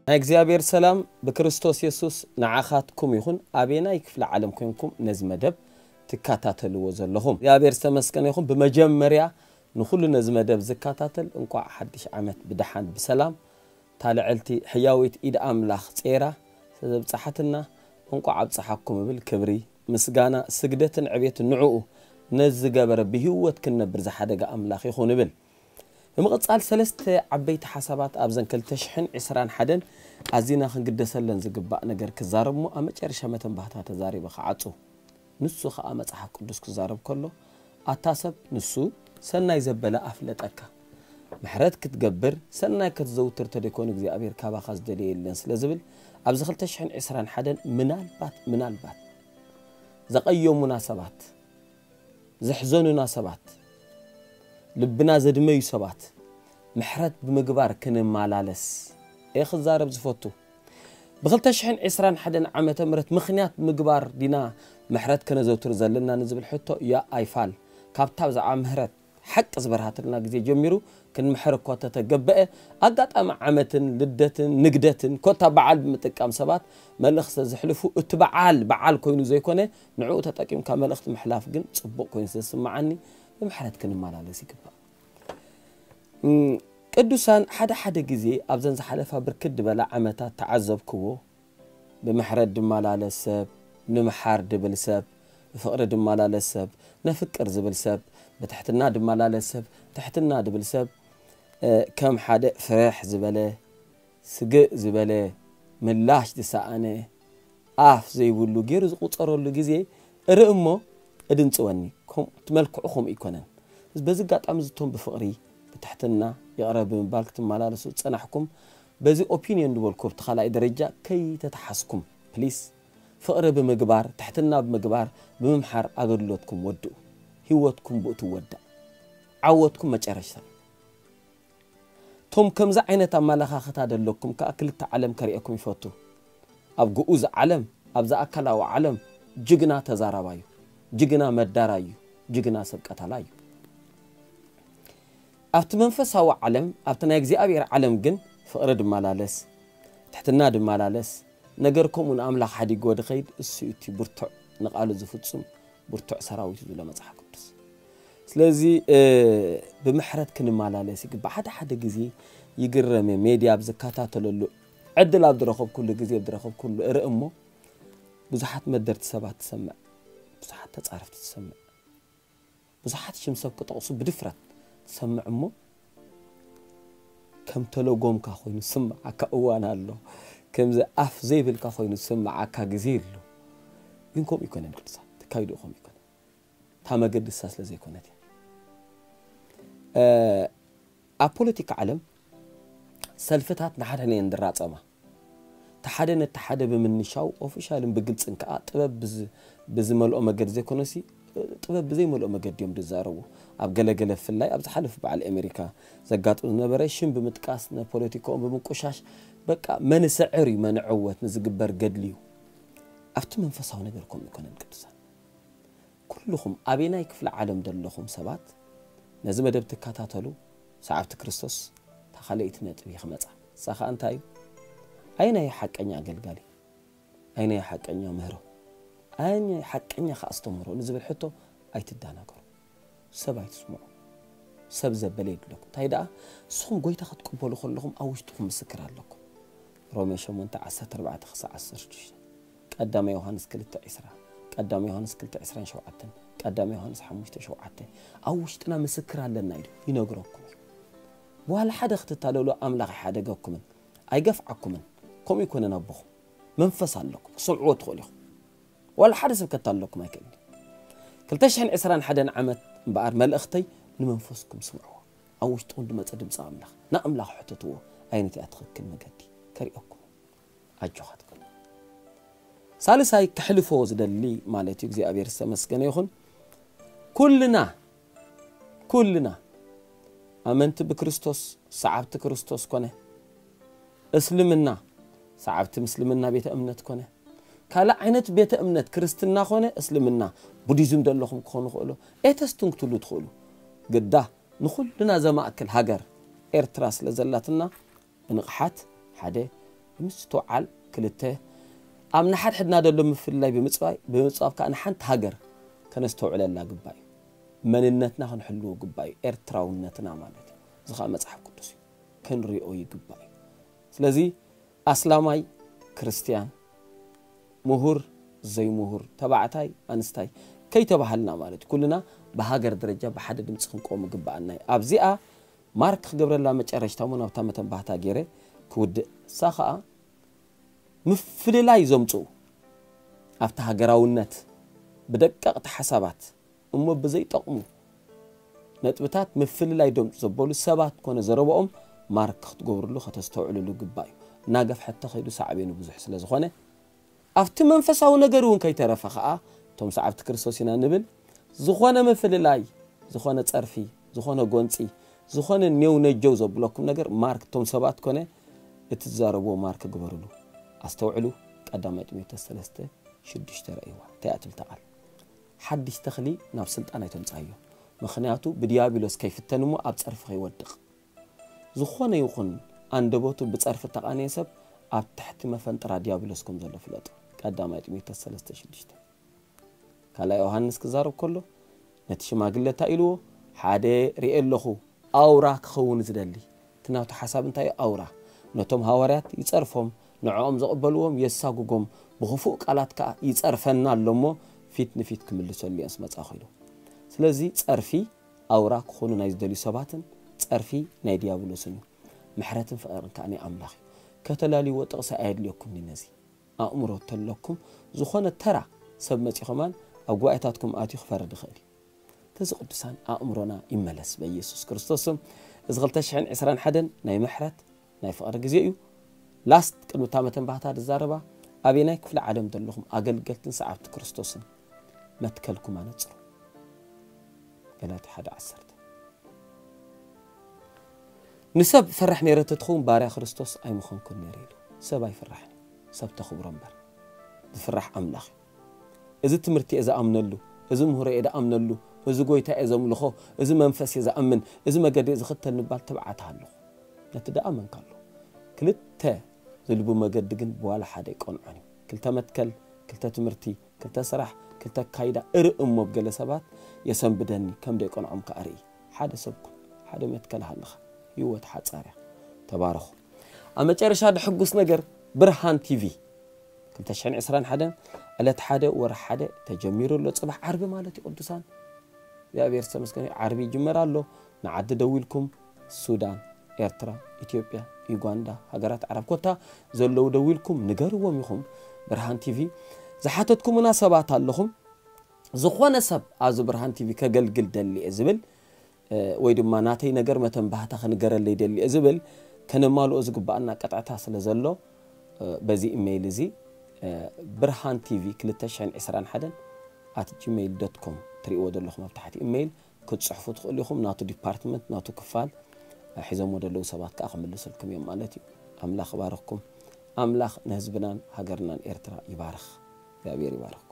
ናይ እግዚኣብሔር ሰላም ብክርስቶስ የሱስ ንዓኻትኩም ይኹን። ኣበየናይ ክፍለ ዓለም ኮይንኩም ነዚ መደብ ትከታተልዎ ዘለኹም እግዚኣብሔር ዝተመስገነ ይኹን። ብመጀመርያ ንኹሉ ነዚ መደብ ዝከታተል እንቋዕ ሓድሽ ዓመት ብደሓን ብሰላም እታ ልዕልቲ ሕያዊት ኢድ ኣምላኽ ጼራ ስለዘብጽሓትና እንቋዕ ኣብጽሓኩም እብል። ክብሪ ምስጋና ስግደትን ዕቤትን ንዕኡ ነዚ ዝገበረ ብህይወት ክንነብር ዝሓደገ ኣምላኽ ይኹን እብል። ብምቕጻል ሰለስተ ዓበይቲ ሓሳባት ኣብዘን ክልተ ሽሕን ዕስራን ሓደን ኣዚና ክንግደሰለን ዝግባእ ነገር ክዛረብ እሞ ኣብ መጨረሻ መተንባህታ ተዛሪበ ክዓጹ። ንሱ ኸኣ መጽሓፍ ቅዱስ ክዛረብ ከሎ ኣታ ሰብ ንሱ ሰናይ ዘበለ ኣፍለጠካ። ምሕረት ክትገብር ሰናይ ከተዘውትር ተደይኮኑ እግዚኣብሔር ካባኻ ዝደለየ የለን ስለ ዝብል ኣብዚ ክልተ ሽሕን ዕስራን ሓደን ምናልባት ምናልባት ዘቐየሙና ሰባት ዘሕዘኑና ሰባት ልብና ዘድመዩ ሰባት ምሕረት ብምግባር ክንመላለስ እየ ክዛረብ ዝፈቱ። ብ ክልተ ሽሕን ዕስራን ሓደን ዓመተ ምህረት ምኽንያት ምግባር ዲና ምሕረት ከነዘውትር ዘለና ንዝብል ሕቶ ያ ኣይፋል ካብታ ብዛዕባ ምህረት ሓቂ ዝበርሃትልና ግዜ ጀሚሩ ክንምሕር እኳ ተተገበአ ኣጋጣሚ ዓመትን ልደትን ንግደትን ኮታ በዓል ብምጥቃም ሰባት መልእኽቲ ዘሕልፉ እቲ በዓል በዓል ኮይኑ ዘይኮነ ንዕኡ ተጠቂምካ መልእኽቲ ምሕላፍ ግን ጽቡቕ ኮይኑ ስለ ዝስምዓኒ ብምሕረት ክንመላለስ ይግባእ። ቅዱሳን ሓደ ሓደ ግዜ ኣብዘን ዝሓለፋ ብርክት ዝበላ ዓመታት ተዓዘብክዎ። ብምሕረት ድመላለስ ሰብ፣ ንምሓር ድብል ሰብ፣ ብፍቕሪ ድመላለስ ሰብ፣ ነፍቅር ዝብል ሰብ፣ ብትሕትና ድመላለስ ሰብ፣ ትሕትና ድብል ሰብ፣ ከም ሓደ ፍርሕ ዝበለ፣ ስግእ ዝበለ፣ ምላሽ ዝሰኣነ፣ ኣፍ ዘይብሉ ገይሩ ዝቑጸረሉ ግዜ እርኢ እሞ እድንጽወኒ። እቲ መልክዑ ከምኡ ኣይኮነን። በዚ ኣጋጣሚ ዝቶም ብፍቕሪ ብትሕትና ይቕረ ብምባል ክትመላለሱ ዝጸናሕኩም በዚ ኦፒንዮን ዝበልኩ ኣብቲ ካልኣይ ደረጃ ከይተተሓስኩም ፕሊስ ፍቕሪ ብምግባር ትሕትና ብምግባር ብምምሓር ኣገልግሎትኩም ወድኡ። ህይወትኩም ብኡ ትወዳእ። ዓወትኩም መጨረሽታ። ቶም ከምዚ ዓይነት ኣመለኻኽታ ደለኩም ከኣ ክልተ ዓለም ከርእየኩም ይፈቱ። ኣብ ግኡዝ ዓለም ኣብዛ ኣካላዊ ዓለም ጅግና ተዛራባዩ፣ ጅግና መዳራዩ፣ ጅግና ሰብ ቀታላዩ። ኣብቲ መንፈሳዊ ዓለም ኣብቲ ናይ እግዚኣብሔር ዓለም ግን ፍቕሪ ድመላለስ፣ ትሕትና ድመላለስ፣ ነገር ከምኡ ንኣምላኽ ሓዲግዎ ድኸይድ እሱ እዩ እቲ ብርቱዕ ንቓሉ ዝፍጽም ብርቱዕ ሰራዊት እዩ ዝብሎ መጽሓፍ ቅዱስ። ስለዚ ብምሕረት ክንመላለስ ይግባእ። ሓደ ሓደ ግዜ ይግረም እየ ሜድያ ኣብ ዝከታተለሉ ዕድል ኣብ ዝረኸብኩሉ ግዜ ኣብ ዝረኸብኩሉ እርኢ እሞ ብዙሓት መደርቲ ሰባት ትሰምዕ፣ ብዙሓት ተጻረፍቲ ትሰምዕ፣ ብዙሓት ሽም ሰብ ክጠቕሱ ብድፍረት ትሰምዕ እሞ ከም ተለጎምካ ኮይኑ ዝስምዓካ እዋን ኣሎ። ከምዚ ኣፍ ዘይብልካ ኮይኑ ዝስምዓካ ግዜ ኣሎ። ግን ከምኡ ኣይኮነን ቅዱሳን፣ ተካይድኡ ከምኡ ኣይኮነን። እታ መገዲ እሳ ስለ ዘይኮነት እያ። ኣብ ፖለቲካ ዓለም ሰልፍታት ንሓድሕደን እየን ዝራጸማ። እቲ ሓደ ነቲ ሓደ ብምንሻው ኦፊሻልን ብግልጽን ከኣ ጥበብ ብዝመልኦ መገዲ ዘይኮነሲ ጥበብ ብዘይመልኦ መገዲ እዮም ዝዛረቡ። ኣብ ገለገለ ብፍላይ ኣብ ዝሓለፉ በዓል ኣሜሪካ ዘጋጥም ዝነበረ ሽም ብምጥቃስ ንፖለቲካኦም ብምቁሻሽ በቃ መንስዕር እዩ መንዕወት ንዝግበር ገድሊ እዩ። ኣብቲ መንፈሳዊ ነገር ከምኡ ይኮነን ቅዱሳን። ኩልኹም ኣበየናይ ክፍለ ዓለም ዘለኹም ሰባት ነዚ መደብ ትከታተሉ ሰዓብቲ ክርስቶስ እታ ካልኣይቲ ነጥቢ ክመጻ እሳ ከዓ እንታይ እዩ? ኣየናይ ሓቀኛ ኣገልጋሊ? ኣየናይ ሓቀኛ ምህሮ? ኣየናይ ሓቀኛ ከኣስተምህሮ ንዝብል ሕቶ ኣይትዳናገሩ። ሰብ ኣይትስምዑ። ሰብ ዘበለ የድለኩም። እንታይ ደኣ ንስኹም ጎይታ ክትቅበሉ ከለኹም ኣብ ውሽጥኹም ምስክር ኣለኩም። ሮሜ ሸሞንተ ዓሰርተ ኣርባዕተ ክሳዕ ዓሰርተ ሽዱሽተ ቀዳማይ ዮሃንስ ክልተ ዕስራ ቀዳማይ ዮሃንስ ክልተ ዕስራን ሸውዓተን ቀዳማይ ዮሃንስ ሓሙሽተ ሸውዓተ ኣብ ውሽጥና ምስክር ኣለና ኢሉ ይነግረኩም እዩ። ዋላ ሓደ ክትታለሉ ኣምላኽ ኣይሓደገኩምን ኣይገፍዓኩምን። ከምኡ ይኮነን ኣቦኹም መንፈስ ኣለኩም ክሰምዕዎ ትኽእሉ ኢኹም። ዋላ ሓደ ሰብ ከታለኩም ኣይክእልን። ክልተ ሽሕን ዕስራን ሓደን ዓመት እምበኣር መልእኽተይ ንመንፈስኩም ስምዕዎ። ኣብ ውሽጥኹም ዝመጸ ድምፂ ኣምላኽ ንኣምላኽ ሕተትዎ። ኣየነቲኣ ትኽክል መገዲ ከርእየኩም ኣጆኻ ትብል። ሳልሳይ ክሕልፎ ዝደሊ ማለት እዩ እግዚኣብሔር ዝተመስገነ ይኹን ኩልና ኩልና ኣመንቲ ብክርስቶስ ሰዓብቲ ክርስቶስ ኮነ እስልምና ሰዓብቲ ምስልምና ቤተ እምነት ኮነ ካልእ ዓይነት ቤተ እምነት ክርስትና ኮነ እስልምና ቡዲዝም ዘለኹም ክኾኑ ክእሉ ኤተስትን ክትሉ ትኽእሉ ግዳ ንኹልና ዘማእክል ሃገር ኤርትራ ስለ ዘላትና ብንቕሓት ሓደ ብምስትውዓል፣ ክልተ ኣብ ንሓድሕድና ዘሎ ምፍልላይ ብምፅባይ ብምፅባብ ከዓ ንሓንቲ ሃገር ከነስተውዕለላ ግባእ እዩ። መንነትና ክንሕልዎ ግባእ እዩ። ኤርትራውነትና ማለት እዩ። እዚ ከዓ መፅሓፍ ቅዱስ እዩ። ክንሪኦ ይግባእ እዩ። ስለዚ ኣስላማይ፣ ክርስትያን፣ ምሁር፣ ዘይምሁር፣ ተባዕታይ፣ ኣንስታይ ከይተባሃልና ማለት እዩ። ኩልና ብሃገር ደረጃ ብሓደ ድምፂ ክንቆም ግባኣና እዩ። ኣብዚኣ ማርክ ክገብረላ መጨረሽታ እሞ ናብታ መተንባህታ ገይረ ክውድእ። እሳ ከዓ ምፍልላይ ዘምፅኡ ኣብቲ ሃገራውነት ብደቀቕቲ ሓሳባት እሞ ብዘይጠቕሙ ነጥብታት ምፍልላይ ደምፁ ዘበሉ ሰባት ኮነ ዘረባኦም ማርክ ክትገብርሉ ከተስተውዕልሉ ግባእ እዩ። እናገፍሐ ተኸይዱ ሳዕቤኑ ብዙሕ ስለ ዝኾነ ኣብቲ መንፈሳዊ ነገር እውን ከይተረፈ ከዓ እቶም ሰዓብቲ ክርስቶስ ኢና ንብል ዝኾነ ምፍልላይ፣ ዝኾነ ፀርፊ፣ ዝኾነ ጎንፂ፣ ዝኾነ ኔው ነጀው ዘብለኩም ነገር ማርክ እቶም ሰባት ኮነ እቲ ዝዛረብዎ ማርክ ግበርሉ። ኣስተውዕሉ። ቀዳማይ ጢሞቴዎስ ሰለስተ ሽዱሽተ ረእይዋ እንታይ እያ ትብል እታ ቃል? ሓድሽ ተኽሊ ናብ ስልጣን ኣይተምፅኣዮ፣ ምኽንያቱ ብዲያብሎስ ከይፍተን እሞ ኣብ ፀርፊ ከይወድቕ። ዝኾነ ይኹን ኣንደበቱ ብፀርፊ እተቓነየ ሰብ ኣብ ትሕቲ መፈንጥራ ዲያብሎስ ከም ዘሎ ፍለጡ። ቀዳማይ ጢሞቴዎስ ሰለስተ ሽዱሽተ። ካልኣይ ዮሃንስ ክዛረብ ከሎ ነቲ ሽማግለ እንታይ ኢልዎ? ሓደ ርኤ ኣለኹ፣ ኣውራ ክኸውን ዝደሊ። እቲ ናቱ ሓሳብ እንታይ እዩ? ኣውራ። ነቶም ሃዋርያት ይጸርፎም፣ ንዕኦም ዝቕበልዎም የሳጉጎም፣ ብኽፉእ ቃላት ከኣ ይጸርፈና ኣሎ እሞ ፊት ንፊት ክምልሰሉ እየ ምስ መጻኹ ኢሉ። ስለዚ ጸርፊ ኣውራ ክኾኑ ናይ ዝደልዩ ሰባትን ጸርፊ ናይ ዲያብሎስን እዩ። ምሕረትን ፍቕርን ከኣ ናይ ኣምላኽ እዩ። ከተላልይዎ ጥቕሲ ኣየድልየኩምኒ ነዚ። ኣእምሮ ተለኩም ዝኾነ ተራ ሰብ መጺ ኸማን ኣብ ጉባኤታትኩም ኣትዩ ክፈርድ ይኽእል እዩ። ተዚ ቅዱሳን ኣእምሮና ይመለስ በኢየሱስ ክርስቶስ ስም። እዚ ክልተ ሽሕን ዕስራን ሓደን ናይ ምሕረት ናይ ፍቕሪ ግዜ እዩ። ላስት ቅድሚ እታ መተንባህታ ዝዛረባ ኣበናይ ክፍለ ዓለም ዘለኹም ኣገልገልትን ሰዓብቲ ክርስቶስን መትከልኩም ኣነጽሩ። ገላትያ ሓደ ዓሰርተ። ንሰብ ፈራሕ ነይረ ተትኸውን ባርያ ክርስቶስ ኣይምኾንኩን ነይረ ኢሉ። ሰብ ኣይፍራሕን እዩ፣ ሰብ ተኽብሮ እምበር። ዝፍራሕ ኣምላኽ እዩ። እዚ ትምህርቲ እየ ዝኣምነሉ፣ እዚ ምሁሮ እየ ዝኣምነሉ፣ እዚ ጎይታ እየ ዘምልኾ፣ እዚ መንፈስ እየ ዝኣምን፣ እዚ መገዲ እየ ዝኽተል ንባል ትብዓት ኣለኹ። ነቲ ደኣ መንካ ኣሎ። ክልተ ዝልቡ መገዲ ግን ብዋላ ሓደ ኣይቀንዖን እዩ። ክልተ መትከል፣ ክልተ ትምህርቲ፣ ክልተ ስራሕ፣ ክልተ ኣካይዳ እርኢ እሞ ብገለ ሰባት የሰንብደኒ፣ ከም ደይቀንዖም ከኣ ርኢ። ሓደ ሰብ ኩን፣ ሓደ መትከል ሃልኻ። ህይወት ሓጻር እያ። ተባረኹ። ኣብ መጨረሻ ድሕጉስ ነገር ብርሃን ቲቪ ክልተ ሽሕን ዕስራን ሓደን ዕለት ሓደ ወርሒ ሓደ ተጀሚሩ ኣሎ። ጽባሕ ዓርቢ ማለት እዩ ቅዱሳን። እግዚኣብሔር ዝተመስገነ እዩ። ዓርቢ ይጅመር ኣሎ። ንዓዲ ደዊልኩም ሱዳን፣ ኤርትራ፣ ኢትዮጵያ፣ ዩጋንዳ፣ ሃገራት ዓረብ ኮታ ዘለዉ ደዊልኩም ንገርዎም ኢኹም። ብርሃን ቲቪ ዝሓተትኩምና ሰባት ኣለኹም። ዝኾነ ሰብ ኣብዚ ብርሃን ቲቪ ከገልግል ደሊ እየ ዝብል፣ እ፣ ወይ ድማ ናተይ ነገር መተንባህታ ክንገረለይ ደሊ እየ ዝብል፣ ከነማልኦ ዝግባኣና ቀጥዕታ ስለ ዘሎ፣ እ፣ በዚ ኢሜይል እዚ፣ እ፣ ብርሃን ቲቪ ክልተ ሽሕን ዕስራን ሓደን ኣት ጂሜይል ዶት ኮም ትርእይዎ ዘለኹም ኣብ ታሕቲ ኢሜይል ክትጽሕፉ ትኽእሉ ኢኹም። ናቱ ዲፓርትመንት፣ ናቱ ክፋል፣ እ፣ ሒዞምዎ ዘለዉ ሰባት ከኣ ክምልስልኩም እዮም ማለት እዩ። ኣምላኽ ይባርኽኩም። ኣምላኽ ንህዝብናን ሃገርናን ኤርትራ ይባርኽ። እግዚኣብሔር ይባርኽ።